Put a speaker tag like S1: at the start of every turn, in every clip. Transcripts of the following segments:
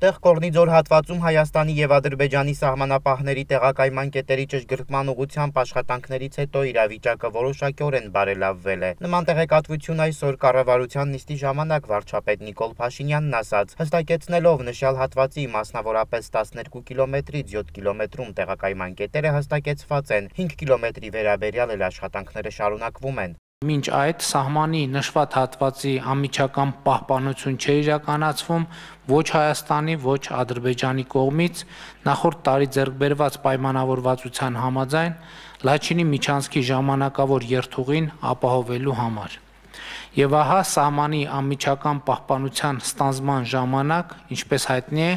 S1: Այստեղ Կորնիձոր հատվածում Հայաստանի եւ Ադրբեջանի սահմանապահների տեղակայման կետերի ճշգրտման ուղղությամբ աշխատանքներից հետո իրավիճակը որոշակիորեն բարելավվել է։ Նման տեղեկատվություն այսօր կառավարության նիստի ժամանակ վարչապետ Նիկոլ Փաշինյանն ասաց, հստակեցնելով նշյալ հատվածի մասնավորապես 12 կիլոմետրից 7 կիլոմետրում տեղակայման կետերը հստակեցված են, 5 կիլոմետրի վերաբերյալ էլ աշխատանքները շարունակվում են։
S2: Մինչ այդ սահմանի նշված հատվածի անմիջական պահպանություն չէ իրականացվում ոչ Հայաստանի, ոչ Ադրբեջանի կողմից նախորդ տարի ձեռք բերված պայմանավորվածության համաձայն Լաչինի միջանցքի ժամանակավոր երթուղին ապահովելու համար։ Եվ ահա սահմանի անմիջական պահպանության ստանձնման ժամանակ, ինչպես հայտնի է,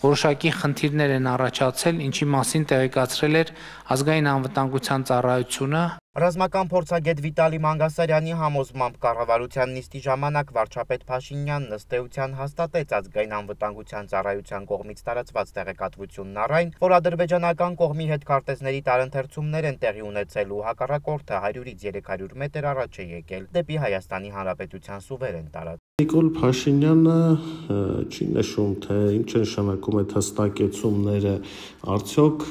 S2: որոշակի խնդիրներ են առաջացել, ինչի մասին տեղեկացրել էր Ազգային անվտանգության ծառայությունը։
S1: Ռազմական փորձագետ Վիտալի Մանգասարյանի համոզմամբ կառավարության նիստի ժամանակ վարչապետ Փաշինյանն ըստ էության հաստատեց Ազգային անվտանգության ծառայության կողմից տարածված տեղեկատվությունն առայն, որ ադրբեջանական կողմի հետ քարտեզների տարընթերցումներ են տեղի ունեցել ու հակառակորդը 100-ից 300 մետր առաջ է եկել դեպի Հայաստանի Հանրապետության սուվերեն տարածք։
S3: Նիկոլ Փաշինյանը չի նշում, թե ինչ նշանակում է հստակեցումները, արդյոք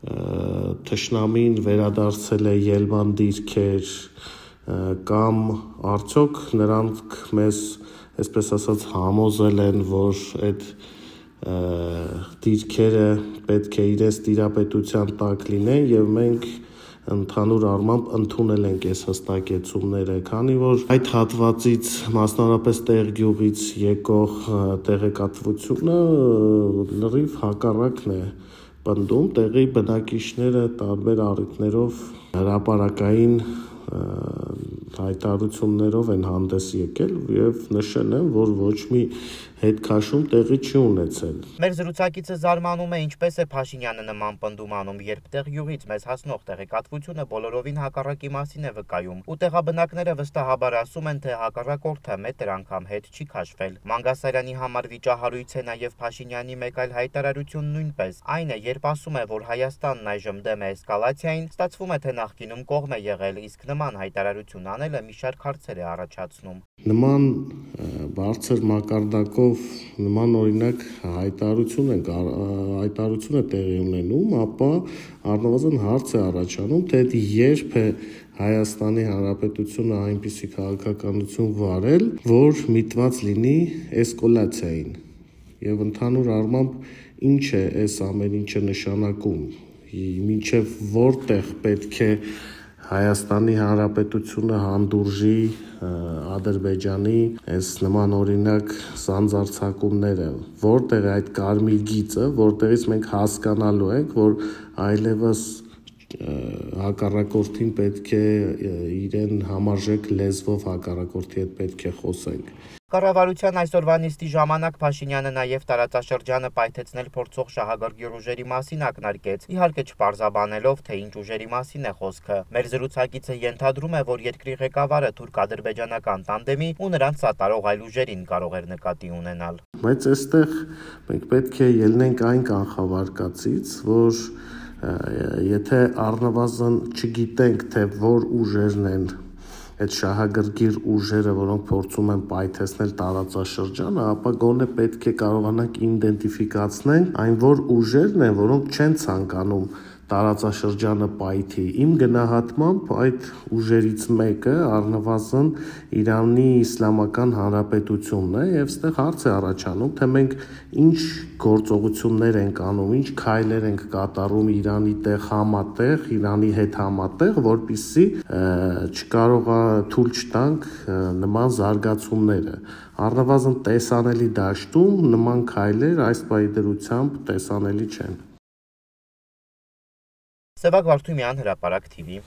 S3: թշնամին վերադարձել է ելման դիրքեր կամ արդյոք նրանք մեզ, այսպես ասած, համոզել են, որ այդ դիրքերը պետք է իրենց տիրապետության տակ լինեն եւ մենք ընդհանուր առմամբ ընդունել ենք այս հստակեցումները, քանի որ այդ հատվածից մասնավորապես Տեղգյուղից եկող տեղեկատվությունը լրիվ հակառակն է պնդում, տեղի բնակիչները տարբեր առիթներով հրապարակային հայտարարություններով են հանդես եկել եւ նշել են, որ ոչ մի հետքաշում տեղի չի ունեցել։
S1: Մեր զրուցակիցը զարմանում է, ինչպես է Փաշինյանը նման պնդում անում, երբ Տեղգյուղից մեզ հասնող տեղեկատվությունը բոլորովին հակառակի մասին է վկայում, ու տեղաբնակները վստահաբար ասում են, թե հակառակորդը մետր անգամ հետ չի քաշվել։ Մանգասարյանի համար վիճահարույց է նաև Փաշինյանի մեկ այլ հայտարարություն նույնպես, այն է, երբ ասում է, որ Հայաստանն այժմ դեմ է էսկալացիային, ստացվում է, թե նախկինում կողմ է եղել, իսկ նման հայտարարություն անելը մի շարք հարցեր է առաջացնում։
S3: Նման բարձր մակարդակով նման օրինակ հայտարարություն է տեղի ունենում, ապա առնվազն հարց է առաջանում, թե երբ է Հայաստանի Հանրապետությունը այնպիսի քաղաքականություն վարել, որ միտված լինի էսկալացիային եւ ընդհանուր առմամբ ինչ է այս ամեն ինչը նշանակում, մինչեւ որտեղ պետք է Հայաստանի Հանրապետությունը հանդուրժի Ադրբեջանի այս նման օրինակ սանձարձակումները, որտեղ է այդ կարմիր գիծը, որտեղից մենք հասկանալու ենք, որ այլևս հակառակորդին պետք է իրեն համարժեք լեզվով հակառակորդի հետ պետք է խոսենք։
S1: Կառավարության այսօրվա նիստի ժամանակ Փաշինյանը նաև տարածաշրջանը պայթեցնել փորձող շահագրգիռ ուժերի մասին ակնարկեց, իհարկե չպարզաբանելով, թե ինչ ուժերի մասին է խոսքը։ Մեր զրուցակիցը ենթադրում է, որ երկրի ղեկավարը թուրք-ադրբեջանական տանդեմի ու նրանց սատարող այլ ուժերին կարող էր նկատի ունենալ։
S3: Բայց այստեղ մենք պետք է ելնենք այն կանխավարկածից, որ եթե առնվազն չգիտենք, թե որ ուժերն են այդ շահագրգիռ ուժերը, որոնք փորձում են պայթեցնել տարածաշրջանը, ապա գոնե պետք է կարողանանք իդենտիֆիկացնել այն որ ուժերն են, որոնք չեն ցանկանում տարածաշրջանը պայթի։ Իմ գնահատմամբ այդ ուժերից մեկը առնվազն Իրանի Իսլամական Հանրապետությունն է եւ այստեղ հարց է առաջանում, թե մենք ինչ գործողություններ ենք անում, ինչ քայլեր ենք կատարում Իրանի հետ համատեղ, որպեսզի չկարողա թույլ չտանք նման զարգացումները։ Առնվազն տեսանելի դաշտում նման քայլեր այս պայդրությամբ տեսանելի չեն։
S1: Սևակ Վարդումյան, Հրապարակ TV։